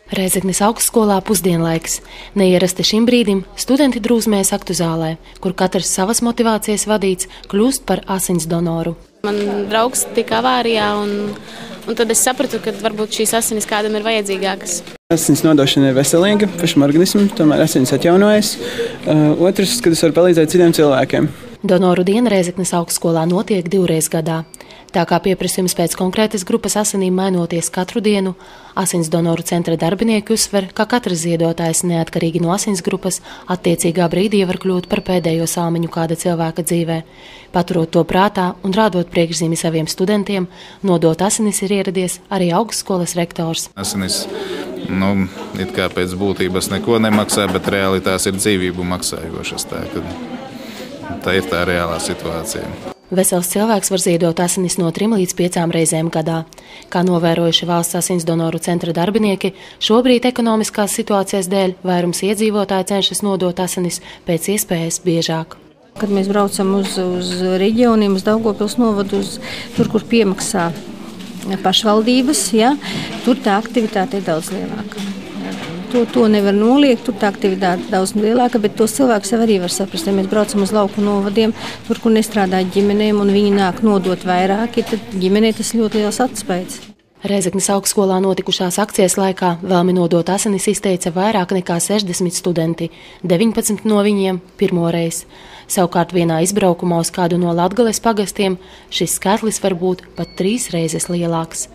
Rēzeknes augstskolā pusdienlaiks. Neierasti šim brīdim studenti drūzmējas aktu zālē, kur katrs savas motivācijas vadīts kļūst par asins donoru. Man draugs tika avārijā, un tad es sapratu, ka varbūt šīs asinis kādam ir vajadzīgākas. Asins nodošana ir veselīga pašam organismam, tomēr asins atjaunojas. Otrs, kad es varu palīdzēt citiem cilvēkiem. Donoru diena Rēzeknes augstskolā notiek 2 reizes gadā. Tā kā pieprasījums pēc konkrētas grupas asinīm mainoties katru dienu, asins donoru centra darbinieki uzsver, ka katrs ziedotājs neatkarīgi no asins grupas attiecīgā brīdī var kļūt par pēdējo salmiņu kāda cilvēka dzīvē. Paturot to prātā un rādot priekšzīmi saviem studentiem, nodot asinis ir ieradies arī augstskolas rektors. Asinis, it kā pēc būtības neko nemaksā, bet reāli tās ir dzīvību maksājošas. Tā ir tā reālā situācija. Vesels cilvēks var ziedot asinis no 3 līdz 5 reizēm gadā. Kā novērojuši valsts asins donoru centra darbinieki, šobrīd ekonomiskās situācijas dēļ vairums iedzīvotāji cenšas nodot asinis pēc iespējas biežāk. Kad mēs braucam uz reģioniem, uz Daugavpils novadu, tur, kur piemaksā pašvaldības, tur tā aktivitāte ir daudz lielāka. To nevar noliegt, tur tā aktivitāte daudz lielāka, bet tos cilvēkus jau arī var saprast. Ja mēs braucam uz lauku novadiem, tur, kur nestrādā ģimenēm, un viņi nāk nodot vairāki, tad ģimenei tas ļoti liels atspējas. Rēzeknes augstskolā notikušās akcijas laikā vēlmi nodot asinis izteica vairāk nekā 60 studenti, 19 no viņiem pirmoreiz. Savukārt vienā izbraukumā uz kādu no Latgales pagastiem šis skaitlis var būt pat 3 reizes lielāks.